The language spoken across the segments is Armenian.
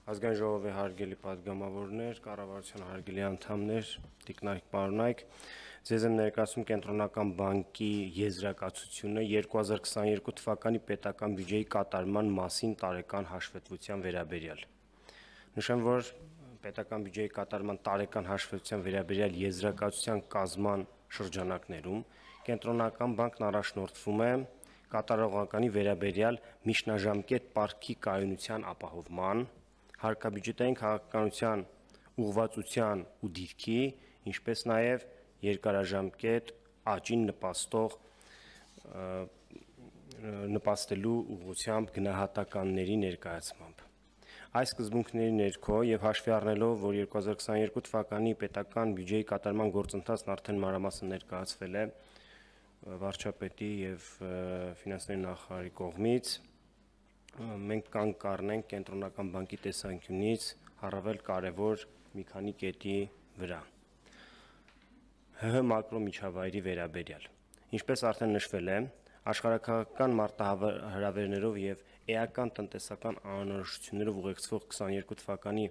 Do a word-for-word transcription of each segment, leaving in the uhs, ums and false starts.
Ազգային ժողովի հարգելի պատգամավորներ, կառավարության հարգելի անդամներ, տիկնայք, պարոնայք, ձեզ եմ ներկայացնում Կենտրոնական բանկի եզրակացությունը երկու հազար քսաներկու թվականի պետական բյուջեի կատարման մասին տարեկան հաշվետվության վերաբերյալ։ Նշեմ, որ պետական բյուջեի կատարման տարեկան հաշվետվության վերաբերյալ եզրակացության կազման շրջանակներում Կենտրոնական բանկն առաջնորդվում է կատարողականի վերաբերյալ միջնաժամկետ պարտքի կայունության ապահովման, հարկաբյուջետային քաղաքականության ուղղվածության ու դիրքի, ինչպես նաև երկարաժամկետ աճին նպաստող նպաստելու ուղղությամբ գնահատականների ներկայացմամբ։ Այս սկզբունքների ներքո եւ հաշվի առնելով, որ երկու հազար քսաներկու թվականի պետական բյուջեի կատարման գործընթացն արդեն մանրամասն ներկայացվել է վարչապետի եւ ֆինանսների նախարարի կողմից, մենք կանգ կառնենք Կենտրոնական բանկի տեսանկյունից առավել կարևոր մի քանի կետի վրա։ ՀՀ մակրո միջավայրի վերաբերյալ։ Ինչպես արդեն նշվել է, աշխարհաքաղաքական մարտահրավերներով եւ էական տնտեսական անորոշություններով ուղեկցվող քսաներկու թվականի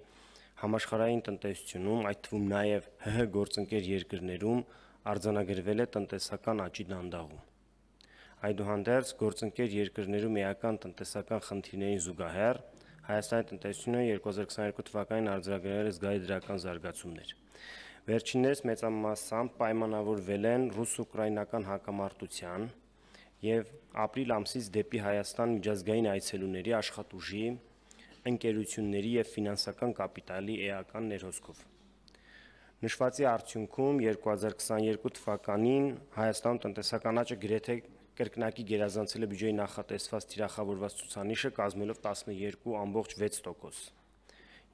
համաշխարհային տնտեսությունում, այդ թվում նաեւ ՀՀ գործընկեր երկրներում արձանագրվել է տնտեսական աճի դանդաղում։ Այդուհանդերձ գործընկեր երկրներում էական տնտեսական խնդիրներին զուգահեռ Հայաստանի տնտեսությունը երկու հազար քսաներկու թվականին արձանագրել է զգալի դրական զարգացումներ։ Վերջիններս մեծամասամբ պայմանավորվել են ռուս-ուկրաինական հակամարտության եւ ապրիլ ամսից դեպի Հայաստան միջազգային այցելուների, աշխատուժի, ընկերությունների եւ ֆինանսական կապիտալի էական ներհոսքով։ Նշվածի արդյունքում երկու հազար քսաներկու թվականին Հայաստանում տնտեսական աճը գրեթե կրկնակի գերազանցել է բյուջեի նախատեսված թիրախավորված ցուցանիշը, կազմելով տասնյոթ ամբողջ վեց տոկոս։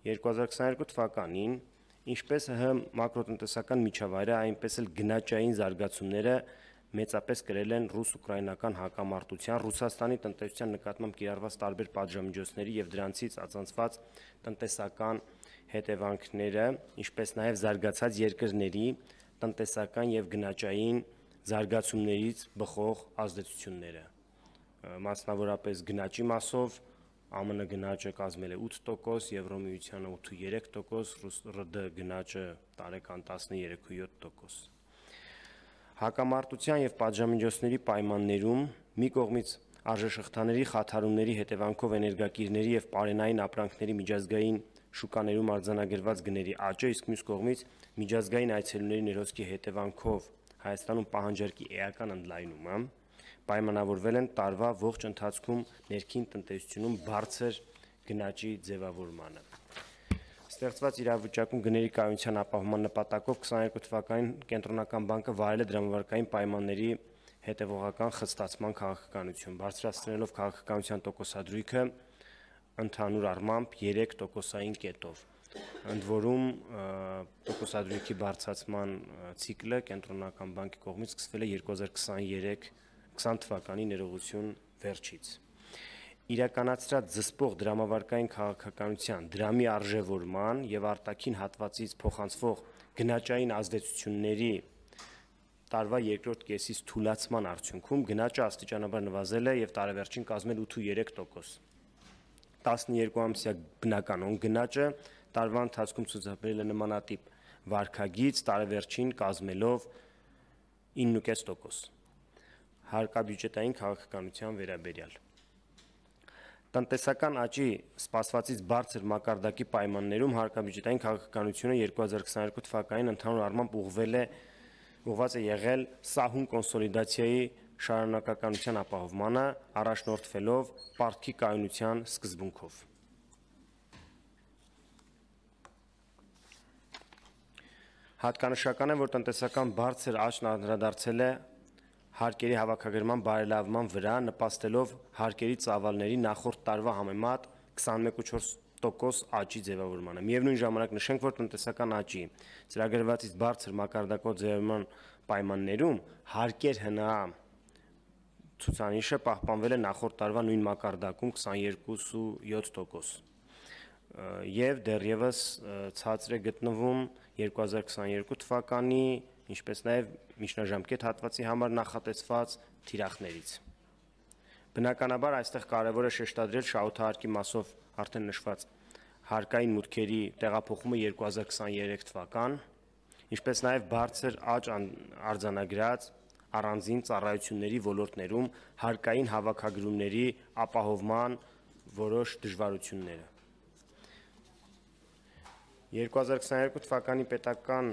երկու հազար քսաներկու թվականին, ինչպես ՀՀ մակրոտնտեսական միջավայրը, այնպես էլ գնաճային զարգացումները մեծապես կրել են ռուս-ուկրաինական հակամարտության, Ռուսաստանի տնտեսության նկատմամբ կիրառված տարբեր պատժամիջոցների եւ դրանցից ածանցված տնտեսական հետևանքները, ինչպես նաեւ զարգացած երկրների տնտեսական եւ գնաճային զարգացումներից բխող ազդեցությունները։ Մասնավորապես գնաճի մասով ԱՄՆ գնաճը կազմել է ութ տոկոս, Եվրոմիությանը ութ տոկոս, ՌԴ գնաճը տարեկան տասնյոթ տոկոս։ Հակամարտության եւ պատժամիջոցների պայմաններում մի կողմից արժեշղթաների խաթարումների հետևանքով էներգակիրների եւ պարենային ապրանքների միջազգային շուկաներում արձանագրված գների աճը, իսկ մյուս կողմից միջազգային այցելուների ներհոսքի հետևանքով Հայաստանում պահանջարկի էական ընդլայնումը պայմանավորվել են տարվա ողջ ընթացքում ներքին տնտեսությունում բարձր գնաճի ձևավորմանը։ Ստեղծված իրավիճակում գների կայունության ապահովման նպատակով քսաներկու թվականին Կենտրոնական բանկը վարել է դրամավարկային պայմանների հետևողական խստացման քաղաքականություն, բարձրացնելով քաղաքականության տոկոսադրույքը ընդհանուր առմամբ երեք տոկոսային կետով։ Ընդ որում տոկոսադրույքի բարձրացման ցիկլը Կենտրոնական բանկի կողմից սկսվել է երկու հազար քսան թվականի ներողություն վերջից։ Իրականացրած զսպող դրամավարկային քաղաքականության, դրամի արժևորման եւ արտաքին հատվածից փոխանցվող գնաճային ազդեցությունների տարվա երկրորդ կեսից թուլացման արդյունքում գնաճը աստիճանաբար նվազել է եւ տարեվերջին կազմել ութ տոկոս։ տասնյոթ ամսյա բնականոն գնաճը տարվա ընթացքում ցուցաբերել է նմանատիպ վարքագիծ, տարեվերջին կազմելով ինը տոկոս։ Հարկաբյուջետային քաղաքականության վերաբերյալ տնտեսական աճի սպասվածից բարձր մակարդակի պայմաններում հարկաբյուջետային քաղաքականությունը երկու հազար քսաներկու թվականին ընդհանուր առմամբ ուղղվել է ուղղված է եղել սահուն կոնսոլիդացիայի շարունակականության ապահովմանը, առաջնորդվելով պարտքի կայունության սկզբունքով։ Հատկանշական է, որ տնտեսական բարձր աճն անդրադարձել է հարկերի հավաքագրման բարելավման վրա, նպաստելով հարկերի ծավալների նախորդ տարվա համեմատ քսանմեկ փոխանակ չորս տոկոս աճի ձևավորմանը։ Միևնույն ժամանակ նշենք, որ տնտեսական աճի ծրագրվածից բարձր մակարդակով ձևավորման պայմաններում հարկեր ՀՆԱ ցուցանիշը պահպանվել է նախորդ տարվա նույն մակարդակում քսաներկու փոխանակ յոթ տոկոս եւ դեռևս ցածր է գտնվում երկու հազար քսաներկու թվականի, ինչպես նաեւ միջնաժամկետ հատվածի համար նախատեսված թիրախներից։ Բնականաբար այստեղ կարևոր է շեշտադրել շահութահարկի մասով արդեն նշված հարկային մուտքերի տեղափոխումը երկու հազար քսաներեք թվական, ինչպես նաև բարձր աճ արձանագրած առանձին ծառայությունների ոլորտներում հարկային հավաքագրումների ապահովման որոշ դժվարությունները։ երկու հազար քսաներկու թվականի պետական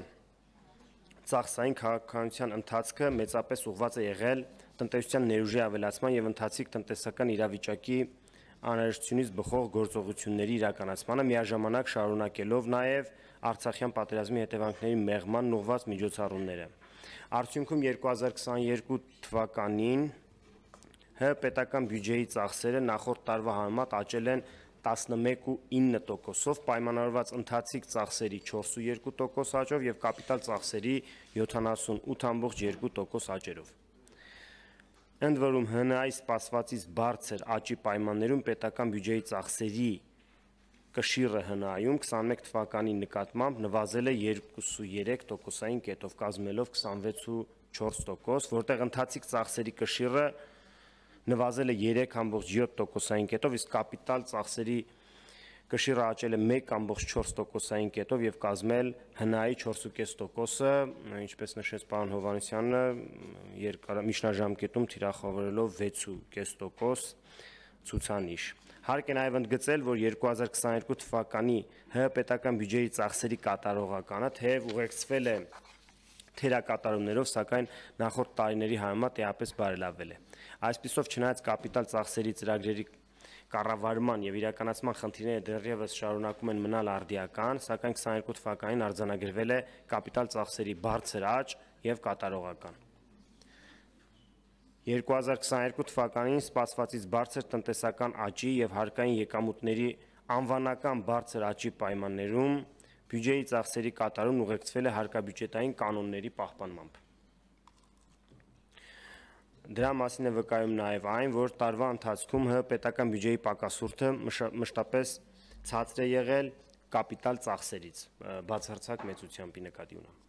ծախսային քաղաքականության ընթացքը մեծապես ուղղված է եղել տնտեսության ներուժի ավելացման եւ ընթացիկ տնտեսական իրավիճակի անհրաժեշտությունից բխող գործողությունների իրականացմանը, միաժամանակ շարունակելով նաև Արցախյան պատերազմի հետևանքների մեղման ուղղված միջոցառումները։ Արդյունքում երկու հազար քսաներկու թվականին ՀՀ պետական բյուջեի ծախսերը նախորդ տարվա համեմատ աճել են տասնմեկ ու ինը տոկոսով, պայմանավորված ընթացիկ ծախսերի չորսունյոթ տոկոս աճով եւ կապիտալ ծախսերի յոթանասունութ ամբողջ երկու տոկոս աճերով։ Ընդ որում ՀՆԱ-ի սպասվածից բարձր աճի պայմաններում պետական բյուջեի ծախսերի կշիռը ՀՆԱ-ում քսանմեկ թվականի նկատմամբ նվազել է երկուսունյոթ տոկոսային կետով, կազմելով քսանվեց ու չորս տոկոս, որտեղ ընթացիկ ծախսերի կշիռը նվազել է երեք ամբողջ յոթ տոկոսային կետով, իսկ կապիտալ ծախսերի կշիռը աճել է մեկ ամբողջ չորս տոկոսային կետով եւ կազմել ՀՆԱ-ի չորսուկես տոկոսը, ինչպես նշեց պարոն Հովհաննիսյանը, երկար միջնաժամկետում թիրախավորելով վեցուկես տոկոս ցուցանիշ։ Հարկ է նաև ընդգծել, որ երկու հազար քսաներկու թվականի ՀՀ պետական բյուջեի ծախսերի կատարողականը թեև ուղեկցվել է թերակատարումներով, սակայն նախորդ տարիների համեմատ էապես բարելավել է։ Այսպիսով, չնայած կապիտալ ծախսերի ծրագրերի կառավարման եւ իրականացման խնդիրները դեռևս շարունակում են մնալ արդիական, սակայն քսաներկու թվականին արձանագրվել է կապիտալ ծախսերի բարձր աճ եւ կատարողական։ երկու հազար քսաներկու թվականին սպասվածից բարձր տնտեսական աճի եւ հարկային եկամուտների անվանական բարձր աճի պայմաններում բյուջեի ծախսերի կատարումն ուղեկցվել է հարկաբյուջետային կանոնների պահպանմամբ։ Դրա մասին է վկայում նաև այն, որ տարվա ընթացքում ՀՀ պետական բյուջեի պակասուրդը մշտապես ցածր է եղել կապիտալ ծախսերից, բացարձակ մեծությամբ նկատի ունեմ։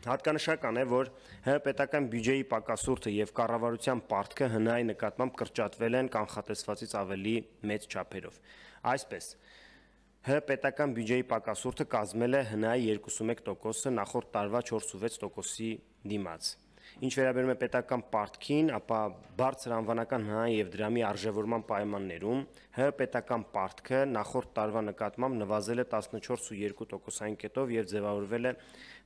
Հատկանշական է, որ ՀՀ պետական բյուջեի պակասուրդը եւ կառավարության պարտքը ՀՆԱ-ի նկատմամբ կրճատվել են կանխատեսվածից ավելի մեծ չափերով։ Այսպես, ՀՀ պետական բյուջեի պակասուրդը կազմել է ՀՆԱ-ի երկուսունմեկ տոկոսը նախորդ տարվա չորսունվեց տոկոսի դիմաց։ Ինչ վերաբերում է պետական պարտքին, ապա բարձր անվանական ՀՆԱ-ի եւ դրամի արժեվորման պայմաններում ՀՀ պետական պարտքը նախորդ տարվա նկատմամբ նվազել է տասնչորս ու երկու տոկոսային կետով եւ ձևավորվել է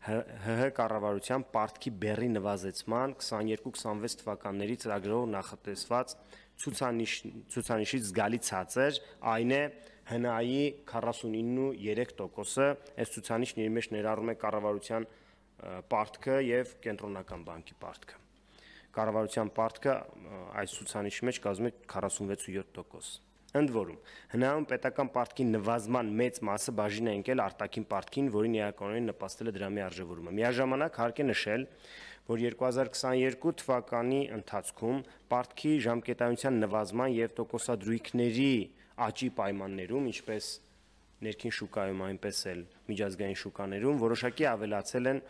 ՀՀ կառավարության պարտքի բեռի նվազեցման քսաներկու քսանվեց թվականների ծրագրով նախատեսված ցուցանիշ ցուցանիշից զգալի ցածր, այն է ՀՆԱ-ի քառասունինը ու երեք տոկոսը, այս ցուցանիշն իր մեջ ներառում է կառավարության պարտքը եւ կենտրոնական բանկի պարտքը։ Կառավարության պարտքը այս ցուցանիշի մեջ կազմում է քառասունվեց ու յոթ տոկոս։ Ընդ որում, ՀՆԱ-ում պետական պարտքի նվազման մեծ մասը բաժին է ընկել արտաքին պարտքին, որին էականորեն նպաստել է դրամի արժեվորումը։ Միաժամանակ հարկ է նշել, որ երկու հազար քսաներկու թվականի ընթացքում պարտքի ժամկետայնության նվազման եւ տոկոսադրույքների աճի պայմաններում, ինչպես ներքին շուկայում, այնպես էլ միջազգային շուկաներում որոշակի ավելացել են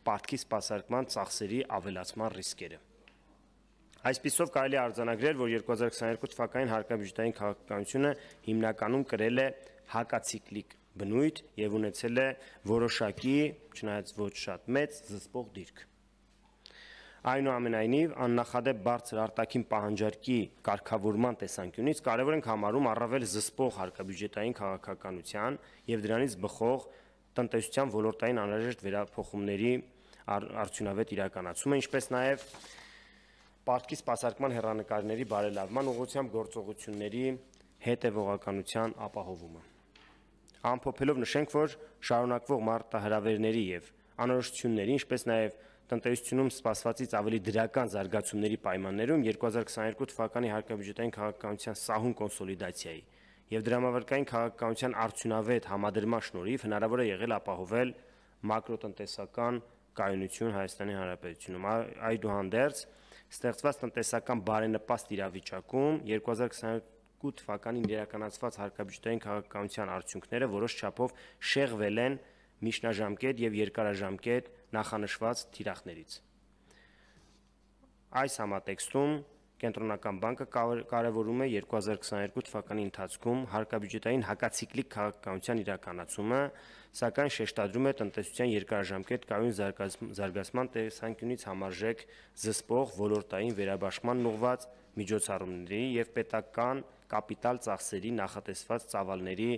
պարտքի սպասարկման ծախսերի ավելացման ռիսկերը։ Այսպիսով կարելի է արձանագրել, որ երկու հազար քսաներկու թվականին հարկաբյուջետային քաղաքականությունը հիմնականում կրել է հակացիկլիկ բնույթ եւ ունեցել է որոշակի, չնայած ոչ շատ մեծ, զսպող դիրք։ Այնուամենայնիվ, աննախադեպ բարձր արտաքին պահանջարկի կարգավորման տեսանկյունից կարևոր ենք համարում առավել զսպող հարկաբյուջետային քաղաքականության եւ դրանից բխող տնտեսության ոլորտային անհրաժեշտ վերափոխումների արդյունավետ իրականացումը, ինչպես նաեւ պարտքի սպասարկման հեռանկարների բարելավման ուղղությամբ գործողությունների հետևողականության ապահովումը։ Ամփոփելով նշենք, որ շարունակվող մարտահրավերների եւ անորոշությունների, ինչպես նաեւ տնտեսությունում սպասվածից ավելի դրական զարգացումների պայմաններում երկու հազար քսաներկու թվականի հարկաբյուջետային քաղաքականության սահուն կոնսոլիդացիայի եւ դրամավարկային քաղաքականության արդյունավետ համադրման շնորհիվ հնարավոր է եղել ապահովել մակրոտնտեսական կայունություն Հայաստանի Հանրապետությունում։ Այդուհանդերձ, ստեղծված տնտեսական բարենպաստ իրավիճակում երկու հազար քսաներկու թվականին իրականացված հարկաբյուջետային քաղաքականության արդյունքները որոշ չափով շեղվել են միջնաժամկետ եւ երկարաժամկետ նախանշված թիրախներից։ Այս համատեքստում Կենտրոնական բանկը կարևորում է երկու հազար քսաներկու թվականի ընթացքում հարկաբյուջետային հակացիկլիկ քաղաքականության իրականացումը, սակայն շեշտադրում է տնտեսության երկարաժամկետ կայուն զարգացման տեսանկյունից համարժեք զսպող ոլորտային վերաբաշխման ուղղված միջոցառումների և պետական կապիտալ ծախսերի նախատեսված ծավալների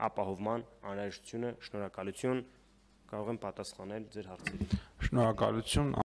ապահովման անհրաժեշտությունը։ Շնորհակալություն, կարող եմ պատասխանել ձեր հարցերին։ Շնորհակալություն։